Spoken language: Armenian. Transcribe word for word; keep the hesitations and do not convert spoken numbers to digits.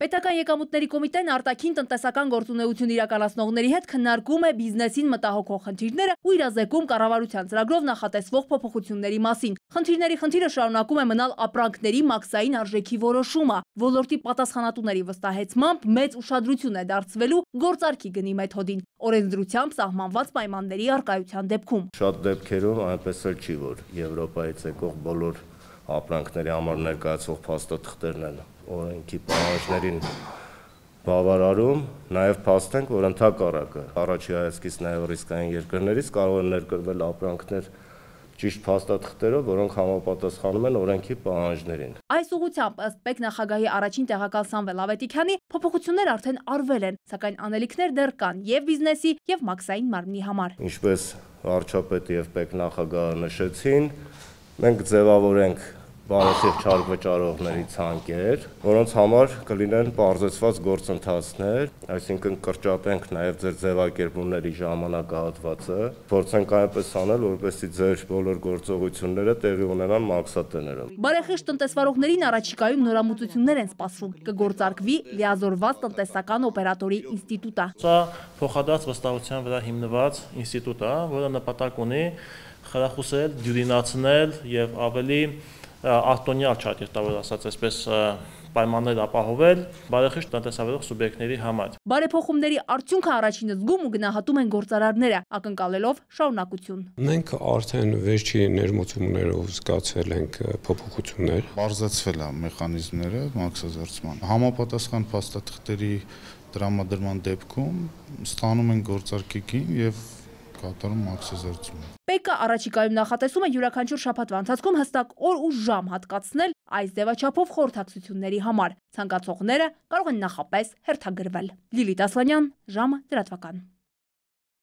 Պետական եկամուտների կոմիտեն արտաքին տնտեսական գործունեություն իրականացնողների հետ քննարկում է բիզնեսին մտահոգող խնդիրները ու իրազեկում կառավարության ծրագրով նախատեսվող փոփոխությունների մասին։ Խնդիրների խնդիրը շարունակում է մնալ ապրանքների մաքսային արժեքի որոշումը։ Ոլորտի պատասխանատուների վստահեցմամբ մեծ ուշադրություն է դարձվելու գործարքի գնի մեթոդին, օրենսդրությամբ սահմանված պայմանների առկայության դեպքում։ Շատ դեպքերում այնպես էլ չի, որ Եվրոպայից եկող բոլոր ապրանքների համար ներկայացվող փաստաթղթերն են օրենքի պահանջներին բավարարում, նաև փաստենք, որ ընդհակառակը առաջի հայացքից նաև ռիսկային երկրներից կարող են ներկրվել ապրանքներ ճիշտ փաստաթղթերով, որոնք համապատասխանում են օրենքի պահանջներին։ Այս ուղղությամբ ըստ պետնախագահի առաջին տեղակալ Սամվել Ավետիքյանի փոփոխություններ արդեն արվել են, սակայն անելիքներ դեռ կան եւ բիզնեսի եւ մաքսային մարմնի համար։ Ինչպես վարչապետը եւ պետնախագահը նշեցին, մենք ձևավորենք բարեխիղճ հարկ վճարողների ցանկեր, որոնց համար կլինեն պարզեցված գործընթացներ, այսինքն կրճատենք նաև ձեր ձևակերպումների ժամանակահատվածը, փորձենք այնպես անել, որպեսզի ձեր բոլոր գործողությունները տեղի ունենան մաքսատներում։ Բարեխիղճ տնտեսվարողներին առաջիկայում նորամուծություններ են սպասվում, կգործարկվի լիազորված տնտեսական օպերատորի ինստիտուտը։ Սա փոխադարձ վստահության վրա հիմնված ինստիտուտ է, որը նպատակ ունի խրախուսել, դյուրինացնել եւ ավելի արտոնյալ ճարտարապետավոր ասած այսպես պայմաններ ապահովել բարեխիղճ տնտեսավարող սուբյեկտների համար։ Բարեփոխումների արդյունքը առաջինը զգում ու գնահատում են գործարարները, ակնկալելով շարունակություն։ Մենք արդեն վերջի ներմուծումներով զգացել ենք փոփոխություններ։ Բարձրացվել է մեխանիզմները մաքսազերծման։ Համապատասխան փաստաթղթերի տրամադրման դեպքում ստանում են գործարքին եւ կատարում մաքսազերծում։ ՊԵԿ-ը առաջիկայում նախատեսում է յուրաքանչյուր շաբաթվա ընթացքում հստակ օր ու ժամ հատկացնել այս ձևաչափով խորհրդակցությունների համար։ Ցանկացողները կարող են նախապես հերթագրվել։ Լիլիթ Ասլանյան, ժամը լրատվական։